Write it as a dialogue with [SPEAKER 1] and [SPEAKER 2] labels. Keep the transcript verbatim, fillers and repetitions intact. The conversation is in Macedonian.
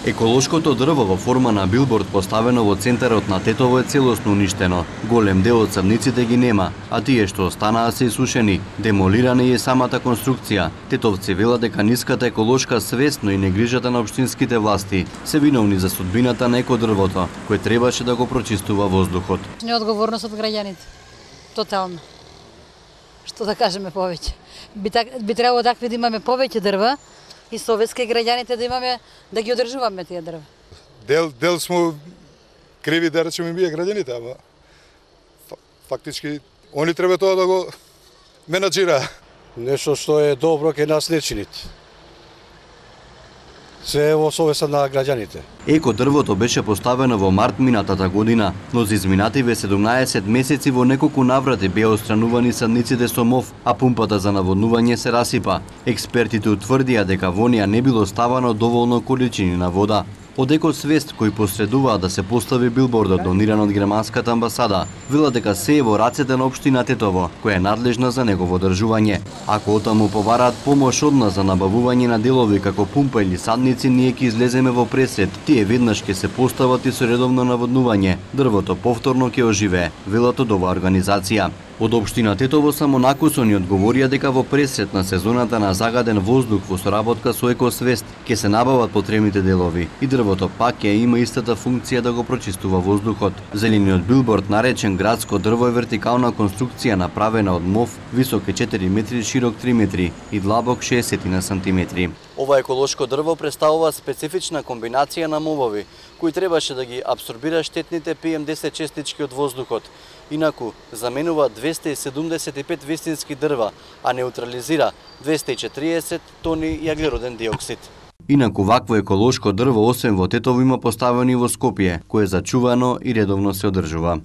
[SPEAKER 1] Еколошкото дрво во форма на билборд поставено во центарот на Тетово е целосно уништено. Голем дел од црвниците ги нема, а тие што останаа се исушени. Демолирана е самата конструкција. Тетовци велат дека ниската еколошка свест, но и негрижата на општинските власти се виновни за судбината на екодрвото, кој требаше да го прочистува воздухот.
[SPEAKER 2] Неодговорност од граѓаните. Тотално. Што да кажеме повеќе? Би, так, би требало такви да имаме повеќе дрва и советски граѓаните да имаме да ги одржуваме тие дрва.
[SPEAKER 3] Дел дел смо криви да речеме ние граѓаните, ама фактички они треба тоа да го менаџира.
[SPEAKER 4] Нешто што е добро ке нас не чините. Се во совеста на граѓаните.
[SPEAKER 1] Еко дрвото беше поставено во март минатата година, но за изминативе седумнаесет месеци во неколку наврати беа отстранувани садниците со мов, а пумпата за наводнување се расипа. Експертите утврдија дека во неа не било ставано доволно количини на вода. Од Екосвест, кој посредуваа да се постави билбордот дониран од германската амбасада, велат дека се е во рацете на општина Тетово, која е надлежна за негово одржување. Ако отаму побараат помош од нас за набавување на делови како пумпа или садници, ние ќе излеземе во пресред. Тие веднаш ќе се постават и со редовно наводнување. Дрвото повторно ќе оживее, велат од оваа организација. Од општина Тетово само накусони одговорија дека во пресред на сезоната на загаден воздух во соработка со Екосвест ќе се набават потребните делови и дрвото пак ќе има истата функција да го прочистува воздухот. Зелениот билборд, наречен градско дрво, е вертикална конструкција направена од мов, висок е четири метри, широк три метри и длабок шеесет сантиметри. Ова еколошко дрво представува специфична комбинација на мовови, кои требаше да ги абсорбира штетните пи ем десет честички од воздухот. Инаку, заменува двесте и седумдесет и пет вистински дрва, а неутрализира двесте и четириесет тони јаглероден диоксид. Инаку, вакво еколошко дрво, освен во Тетово, има поставено и во Скопје, кое е зачувано и редовно се одржува.